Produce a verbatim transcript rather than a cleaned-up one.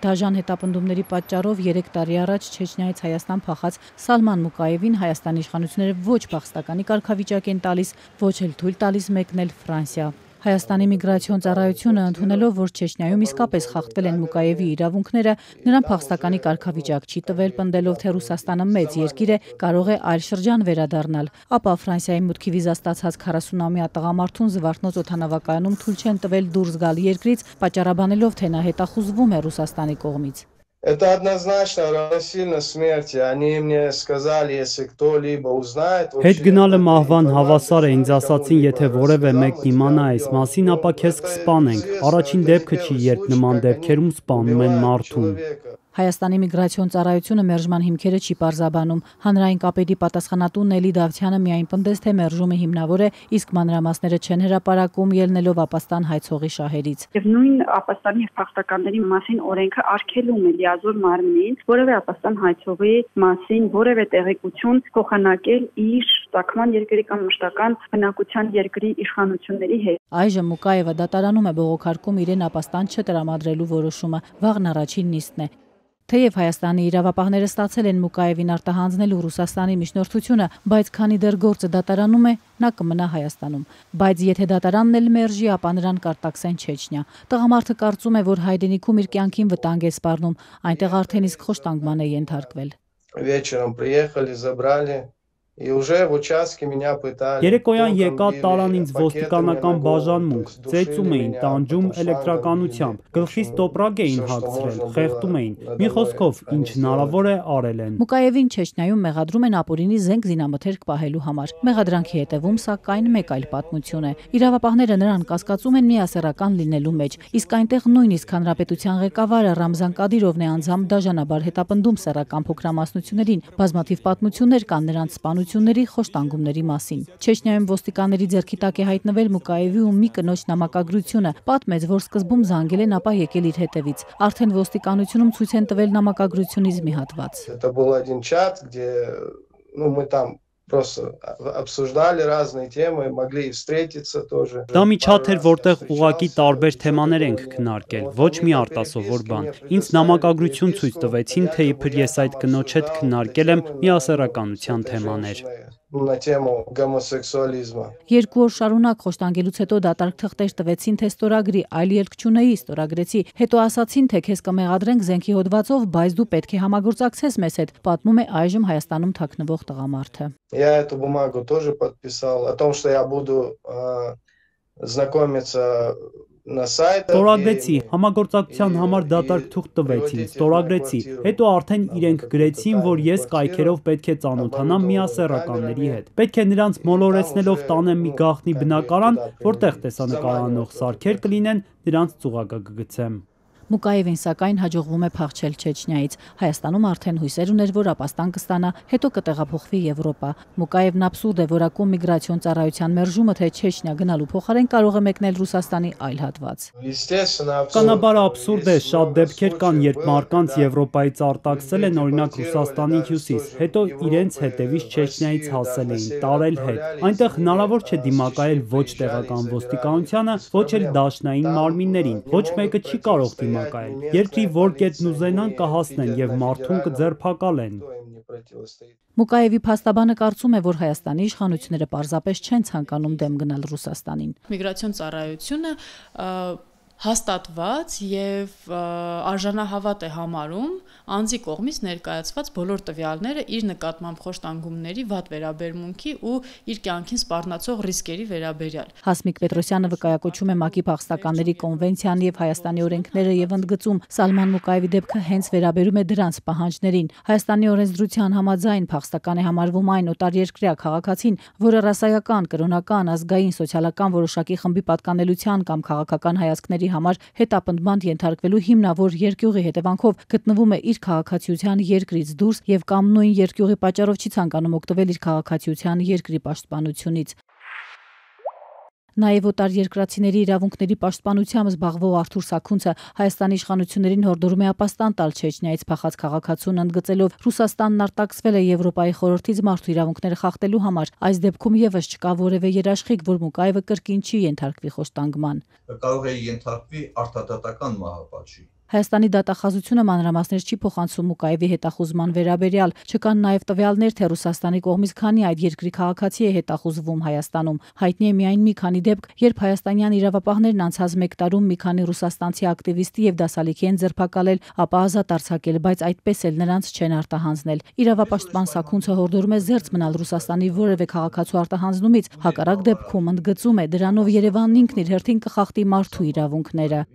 Դաժան հետապնդումների պատճառով երեք տարի առաջ Չեչնիայից Հայաստան փախած Սալման Մուկաևին Հայաստանի իշխանությունները ոչ փախստականի կարգավիճակ են տալիս, ոչ էլ թույլ տալիս մեկնել Ֆրանսիա։ Հայաստանի միգրացիոն ծառայությունը ընդունելով, որ Չեչնիայում իսկապես խախտվել են Մուկաևի իրավունքները, նրան փախստականի կարգավիճակ չի տվել, պնդելով, թե Ռուսաստանը մեծ երկիր է, կարող է այլ շրջան վերադառնալ։ Ապա Ֆրանսիայի մուտքի վիզա ստացած քառասունամյա տղամարդուն Զվարթնոց օդանավակայանում թույլ չեն տվել դուրս գալ երկրից, պատճառաբանելով, թե նա հետախուզվում է Ռուսաստանի կողմից։ Это однозначно равносильно смерти. Они мне сказали, если кто-либо узнает... Հետ գնալը մահվան հավասար է, ինձ ասացին, եթե որևէ մեկն իմանա այս մասին, ապա քեզ կսպանենք։ Առաջին դեպքը չի, երբ նման դեպքերում սպանում են մարդուն։ Հայաստանի միգրացիոն ծառայությունը մերժման հիմքերը չի պարզաբանում։ Հանրային կապերի պատասխանատու Նելի Դավթյանը միայն պնդեց, թե մերժումը հիմնավոր է, իսկ մանրամասները չեն հրապարակում, ելնելով Ապաստան հայցողի շահերից։ Եվ նույն Ապաստանի փախստականների մասին օրենքը արգելում է լիազոր մարմնին որևէ Ապաստան հայցողի մասին որևէ տեղեկություն փոխանակել իր ծագման երկրի կամ մշտական բնակության երկրի իշխանությունների հետ։ Այժմ Մուկաևը դատարանում է բողոքարկում իրեն Ապաստան չտրամադրելու որոշումը, վաղն առաջին նիստն է։ Թեև Հայաստանի իրավապահները ստացել են Մուկաևին արտահանձնելու Ռուսաստանի միջնորդությունը, բայց քանի դեռ գործը դատարանում է, նա կմնա Հայաստանում։ Բայց եթե դատարանն էլ մերժի, ապա նրան կարտաքսեն Չեչնիա։ Տղամարդը կարծում է, որ հայրենիքում իր կյանքին վտանգ է սպառնում, այնտեղ արդեն իսկ խոշտանգման է ենթարկվել։ Вечером приехали, забрали. Երեկոյան եկա տարան ինձ ոստիկանական բաժանմունք, ծեծում էին, տանջում էլեկտրականությամբ, գլխից տոպրակ էին հագցրել, խեղդում էին, մի խոսքով ինչ հնարավոր է արել են։ Մուկաևին Չեչնիայում մեղադրում են ապօրինի զենք զինամթերք պահելու համար։ Մեղադրանքի հետևում սակայն մեկ այլ պատմություն է։ Իրավապահները նրան կասկածում են միասեռական լինելու մեջ, իսկ այնտեղ նույնիսկ հանրապետության ղեկավարը Ռամզան Կադիրովն է անձամբ դաժանաբար հետապնդում սեռական փոքրամասնություններին, բազմաթիվ պատմություններ կան նրանց սպանությունների, խոշտանգումների մասին։ Չեչնիայում ոստիկանների ձեռքի տակ է հայտնվել Մուկաևի ու մի կնոջ նամակագրությունը, պատմեց, որ սկզբում զանգել են, ապա եկել իր հետևից։ Արդեն ոստիկանությունում ցույց են տվել նամակագրությունից մի հատված։ Это был один чат, где, ну, мы там просто обсуждали разные темы, могли встретиться тоже. Դա մի չաթ էր, որտեղ ուղակի տարբեր թեմաներ ենք քննարկել, ոչ մի արտասովոր բան։ Ինձ նամակագրություն ցույց տվեցին, թե իբր ես այդ կնոջ հետ քննարկել եմ միասեռականության թեմաներ։ На тему гомосексуализма. Երկու օր շարունակ խոշտանգելուց հետո դատարկ թղթեր տվեցին, թե ստորագրի, այլ ելք չունեի, ստորագրեցի, հետո ասացին, թե քեզ կմեղադրենք զենքի հոդվածով, բայց դու պետք է համագործակցես մեզ հետ, պատմում է այժմ Հայաստանում թաքնվող տղամարդը։ Я эту бумагу тоже подписал о том, что я буду знакомиться на сайтах. Ստորագրեցի, համագործակցության համար դատարկ թուղթ տվեցին, ստորագրեցի, հետո արդեն իրենք գրեցին, որ ես կայքերով պետք է ծանոթանամ միասեռականների հետ։ Պետք է նրանց մոլորեցնելով տանեմ մի գաղտնի բնակարան, որտեղ տեսանկարահանող սարքեր կլինեն, նրանց ծուղակը կգցեմ։ Մուկաևին սակայն հաջողվում է փախչել Չեչնիայից։ Հայաստանում արդեն հույսեր ուներ, որ Ապաստան կստանա, հետո կտեղափոխվի Եվրոպա։ Մուկաևն աբսուրդ է որակում միգրացիոն ծառայության մերժումը, թե Չեչնիա գնալու փոխարեն կարող է մեկնել Ռուսաստանի այլ հատված։ Կանաբար աբսուրդ է, շատ դեպքեր կան, երբ մարդկանց Եվրոպայից արտաքսել են, օրինակ Ռուսաստանի հյուսիս, հետո իրենց հետևից Չեչնիայից հասել էին, տարել հետ։ Այնտեղ հնարավոր չէ դիմակայել ոչ տեղական ոստիկանությանը, ոչ էլ դաշնային մարմիններին, ոչ մեկը չի կարող դիմակայել։ Երկրի որ կետն ուզենան կհասնեն եւ մարդուն կձերբակալեն։ Մուկաևի փաստաբանը կարծում է, որ Հայաստանի իշխանությունները պարզապես չեն ցանկանում դեմ գնալ Ռուսաստանին։ Միգրացիոն ծառայությունը հաստատված եւ արժանահավատ է համարում անձի կողմից ներկայացված բոլոր տվյալները իր նկատմամբ խոշտանգումների, վատ վերաբերմունքի ու իր կյանքին սպառնացող ռիսկերի վերաբերյալ։ Հասմիկ Պետրոսյանը վկայակոչում է ՄԱԿ-ի փախստականների կոնվենցիան եւ Հայաստանի օրենքները եւ ընդգծում, Սալման Մուկաևի դեպքը հենց վերաբերում է դրանց պահանջներին։ Հայաստանի օրենսդրության համաձայն փախստական է համարվում այն օտարերկրյա քաղաքացին, որը ռասայական, կրոնական, ազգային, սոցիալական որոշակի խմբի պատկանելության կամ քաղաքական հայացքների համար հետապնդման ենթարկվելու հիմնավոր երկյուղի հետևանքով գտնվում է իր քաղաքացիության երկրից դուրս եւ կամ նույն երկյուղի պատճառով չի ցանկանում օգտվել իր քաղաքացիության երկրի պաշտպանությունից։ Նաև օտարերկրացիների իրավունքների պաշտպանությամբ զբաղվող Արթուր Սաքունցը Հայաստանի իշխանություններին հորդորում է ապաստան տալ Չեչնիայից փախած քաղաքացուն, ընդգծելով Ռուսաստանն արտաքսվել է Եվրոպայի խորհրդից մարդու իրավունքները խախտելու համար։ Այս դեպքում եւս չկա որևէ երաշխիք, որ Մուկաևը կրկին չի ենթարկվի խոշտանգման։ Կարող է ենթարկվի արտադատական մահապատժի, Հայաստանի դատախազությունը մանրամասներ չի փոխանցում Մուկաևի հետախուզման վերաբերյալ, չկան նաև տվյալներ, թե Ռուսաստանի կողմից քանի այդ երկրի քաղաքացի է հետախուզվում Հայաստանում։ Հայտնի է միայն մի քանի դեպք, երբ հայաստանյան իրավապահներն անցած մեկ տարում մի քանի ռուսաստանցի ակտիվիստի եւ դասալիքի են ձերբակալել, ապա ազատ արձակել, բայց այդպես էլ նրանց չեն արտահանձնել։ Իրավապաշտպան Սաքունցը հորդորում է զերծ մնալ Ռուսաստանի որևէ քաղաքացու արտահանձնումից, հակառակ դեպքում ընդգծում է, դրանով Երևանն ինքն իր հերթին կխախտի մարդու իրավունքները։